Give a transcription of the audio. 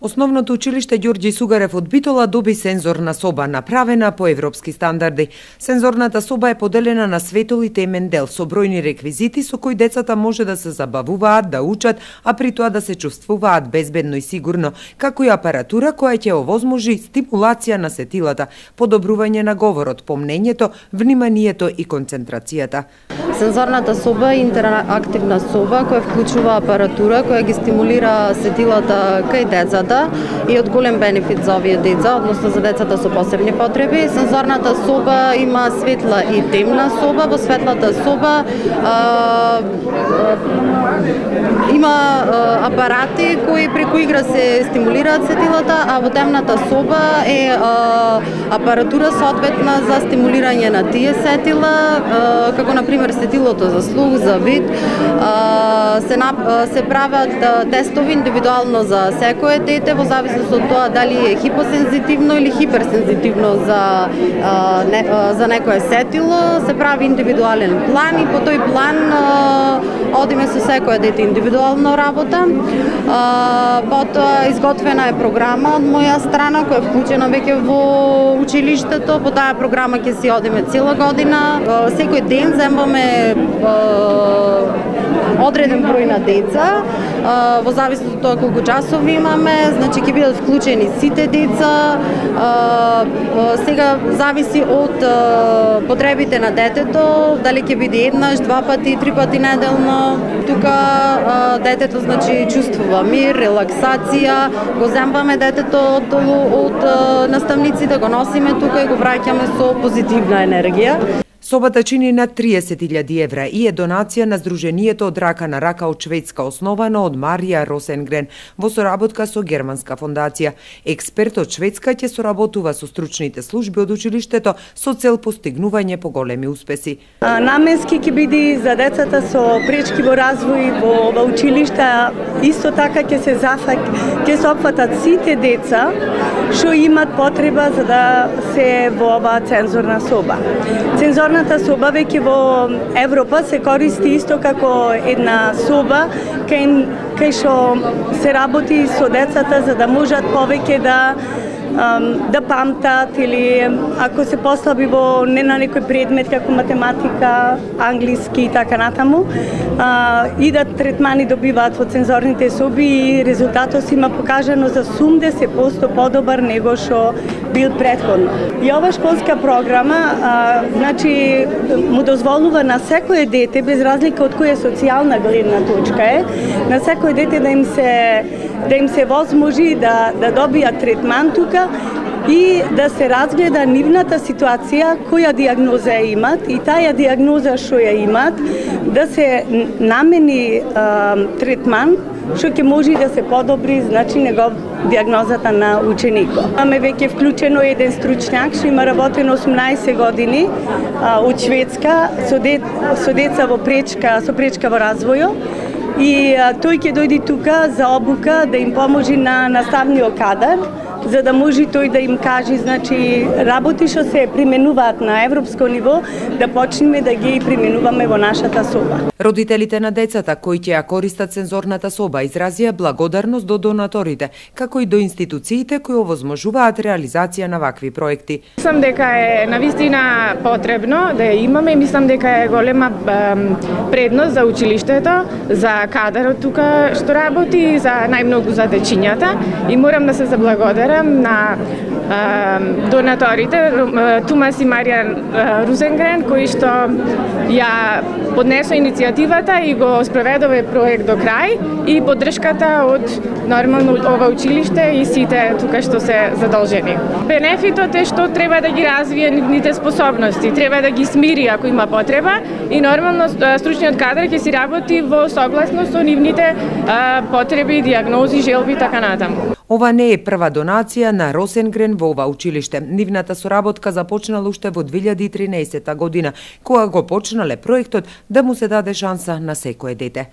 Основното училиште Ѓорѓи Сугарев од Битола доби сензорна соба, направена по европски стандарди. Сензорната соба е поделена на светол и темен дел со бројни реквизити со кои децата може да се забавуваат, да учат, а при тоа да се чувствуваат безбедно и сигурно, како и апаратура која ќе овозможи стимулација на сетилата, подобрување на говорот, помнењето, вниманието и концентрацијата. Сензорната соба е интерактивна соба која вклучува апаратура која ги стимулира сетилата кај децата и од голем бенефит за овие деца, односно за децата со посебни потреби. Сензорната соба има светла и темна соба. Во светлата соба има апарати кои преку игра се стимулираат сетилата, а во темната соба е апаратура соодветна за стимулирање на тие сетила, како на пример сетилото за слух, за вид. Се прават тестови индивидуално за секое дете во зависност од тоа дали е хипосензитивно или хиперсензитивно за некое сетило. Се прави индивидуален план и по тој план одиме со секое дете индивидуално работа. Потоа изготвена е програма од моја страна која е вклучена веќе во училиштето. По таа програма ќе си одиме цела година. Секој ден земваме одреден број на деца, во зависност од тоа колку часови имаме, значи ќе бидат вклучени сите деца. Сега зависи од потребите на детето, дали ќе биде еднаш, два пати, три пати неделно. Тука детето значи чувствува мир, релаксација, го земваме детето од наставниците, го носиме тука и го враќаме со позитивна енергија. Собата чини над 30.000 евра и е донација на Сдруженијето од рака на рака од Шведска, основано од Марија Росенгрен во соработка со Германска фондација. Експерт од Шведска ќе соработува со стручните служби од училиштето со цел постигнување поголеми успеси. Наменски ќе биде за децата со пречки во развој во училишта. Исто така ќе се опфатат сите деца што имат потреба за да се во оваа цензорна соба. Сензорната соба веќе во Европа се користи исто како една соба кај што се работи со децата за да можат повеќе да памтат или ако се послаби во не на некој предмет како математика, англиски и така натаму, идат третмани добиваат во цензорните соби и резултатот има покажано за 80% подобар него што бил претходно. И ова школска програма значи му дозволува на секое дете, без разлика од која социјална гледна точка е, на секое дете да им се возможи да добијат третман тука и да се разгледа нивната ситуација, која диагноза имат и таа диагноза што ја имат, да се намени третман што ќе може да се подобри, значи диагнозата на ученикот. Имаме веќе вклучено еден стручњак што има работено 18 години од Шведска со деца со пречка во развојот. И тој ќе дојде тука за обука да им поможи на наставниот кадар, за да може тој да им каже, значи, работи што се применуваат на европско ниво, да почнеме да ги применуваме во нашата соба. Родителите на децата кои ќе ја користат сензорната соба изразија благодарност до донаторите, како и до институциите кои овозможуваат реализација на вакви проекти. Мислам дека е навистина потребно да ја имаме и мислам дека е голема предност за училиштето, за кадарот тука што работи, за најмногу за дечињата и морам да се заблагодарам на донаторите Томас и Марија Росенгрен кои што ја поднесо иницијативата и го спроведове проект до крај и поддршката од нормално ова училиште и сите тука што се задолжени. Бенефитот е што треба да ги развие нивните способности, треба да ги смири ако има потреба и нормално стручниот кадар ќе си работи во согласност со нивните потреби, диагнози, желби и така натаму. Ова не е прва донација на Росенгрен во ова училиште. Нивната соработка започнала уште во 2013 година, кога го почнале проектот да му се даде шанса на секое дете.